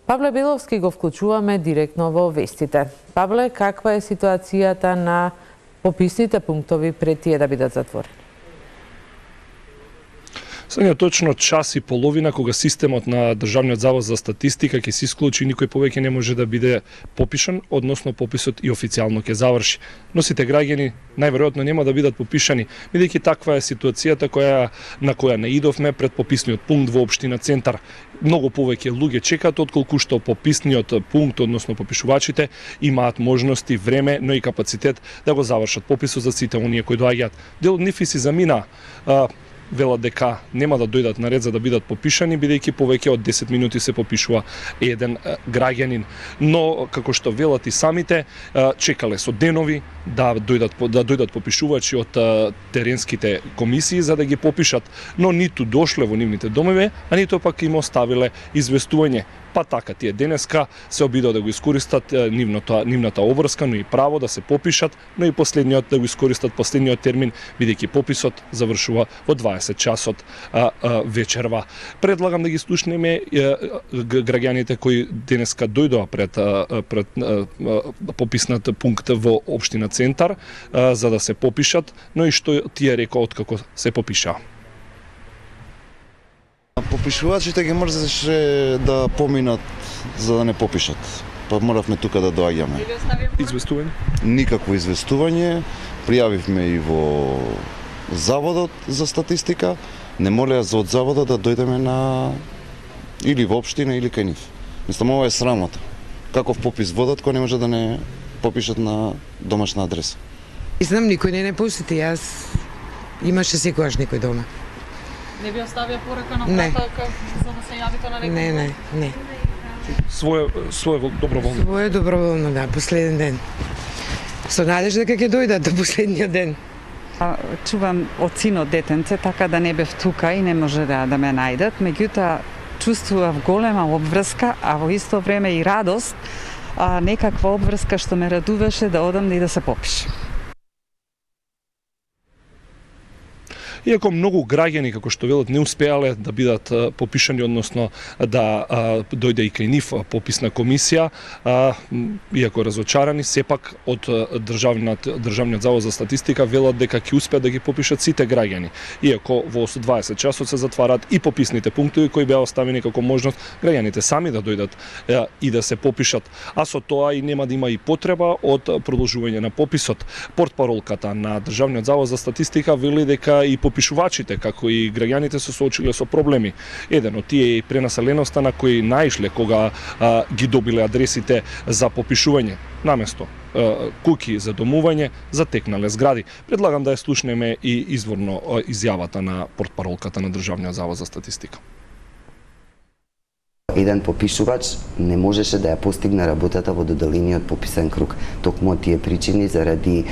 Павле Беловски го вклучуваме директно во вестите. Павле, каква е ситуацијата на пописните пунктови пред тие да бидат затворени? Сега точно час и половина кога системот на Државниот завод за статистика ќе се исклучи, никој повеќе не може да биде попишан, односно пописот и официјално ќе заврши. Но сите граѓани најверојатно нема да бидат попишани, бидејќи таква е ситуацијата на која наидовме пред пописниот пункт во општина Центар. Многу повеќе луѓе чекаат отколку што пописниот пункт, односно попишувачите, имаат можности, време, но и капацитет да го завршат пописот за сите оние кои доаѓаат. Дел од нив и си замина, велат дека нема да дојдат на ред за да бидат попишани, бидејќи повеќе од 10 минути се попишува еден граѓанин. Но, како што велат и самите, чекале со денови да дојдат попишувачи од теренските комисии за да ги попишат, но ниту дошле во нивните домови, а ниту пак им оставиле известување. Па така, тие денеска се обидоа да го искористат нивната обврска, но и право да се попишат, но и последниот да го искористат последниот термин, бидејќи пописот завршува во 20 часот вечерва. Предлагам да ги слушнеме граѓаните кои денеска дојдоа пред пописнат пункт во општина Центар за да се попишат, но и што тие рекоа откако се попишаа. Попишувачите ги мрзеше да поминат за да не попишат. Па моравме тука да доаѓаме. Известување? Никакво известување. Пријавивме и во Заводот за статистика. Не молеа за од Заводот да дојдеме или во општина или кај нив. Мислам, ова е срамота. Каков попис водат кој не може да не попишат на домашна адреса? Знам, никој не посети, јас имаше секогаш некој дома. Не би оставија порака на врата за да се јавите на некој? Не. Своје доброволно? Своје доброволно, да, последен ден. Со надежда дека ќе дојдат до последниот ден. Чувам од синот детенце, така да не бев тука и не може да ме најдат, меѓутоа чувствував голема обврска, а во исто време и радост, некаква обврска што ме радуваше да одам и да се попишам. Иако многу граѓани, како што велат, не успеале да бидат попишани, односно да дојде и кај нив пописна комисија, иако разочарани, сепак од Државниот завод за статистика велат дека ќе успеат да ги попишат сите граѓани. Иако во 20 часот се затварат и пописните пунктови кои беа оставени како можност граѓаните сами да дојдат и да се попишат, а со тоа и нема да има и потреба од продолжување на пописот. Портпаролката на Државниот завод за статистика вели дека и попишувачите, како и граѓаните се соочиле со проблеми. Еден од тие е пренаселеноста на кои наишле кога ги добиле адресите за попишување. Наместо куќи за домување, затекнале згради. Предлагам да ја слушнеме и изворно изјавата на портпаролката на Државниот завод за статистика. Еден попишувач не можеше да ја постигне работата во доделениот пописен круг. Токму од тие причини заради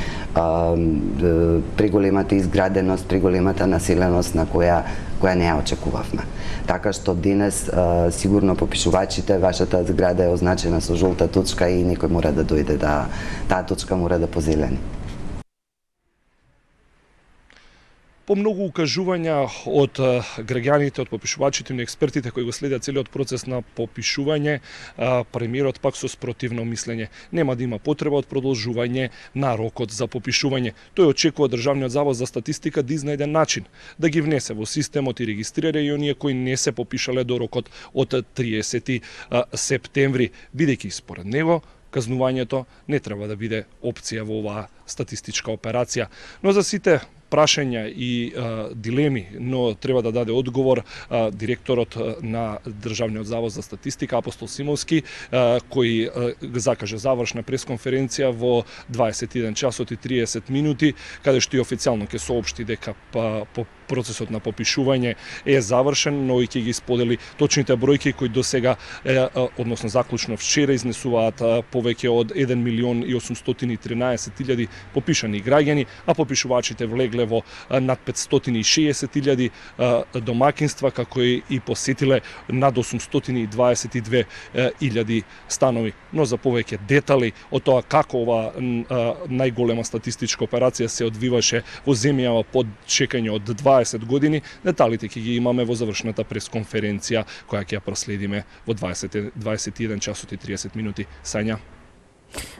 преголемата изграденост, преголемата населеност на која не ја очекувавме. Така што денес сигурно попишувачите, вашата зграда е означена со жолта точка и некој мора да дојде таа точка мора да позелени. По многу укажувања од граѓаните, од попишувачите и експертите кои го следат целиот процес на попишување, премиерот пак со спротивно мислење. Нема да има потреба од продолжување на рокот за попишување. Тој очекува Државниот завод за статистика да изнајде начин да ги внесе во системот и регистрира и оние кои не се попишале до рокот од 30 септември, бидејќи според него казнувањето не треба да биде опција во оваа статистичка операција. Но за сите прашања и дилеми, но треба да даде одговор директорот на Државниот завод за статистика Апостол Симовски, кој закаже завршна пресконференција во 21 часот и 30 минути, каде што и официјално ќе соопшти дека процесот на попишување е завршен, но и ќе ги сподели точните бројки кои до сега, односно заклучно вчера, изнесуваат повеќе од 1.813.000 попишани граѓани, а попишувачите влегле во над 560.000 домакинства, како и посетиле над 822.000 станови. Но за повеќе детали од тоа како ова најголема статистичка операција се одвиваше во земјава под чекање од 20 20 години. Деталите ќе ги имаме во завршната пресконференција која ќе ја проследиме во 21 часот и 30 минути. Сања.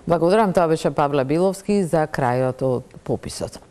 Благодарам, тоа беше Павле Биловски за крајот од пописот.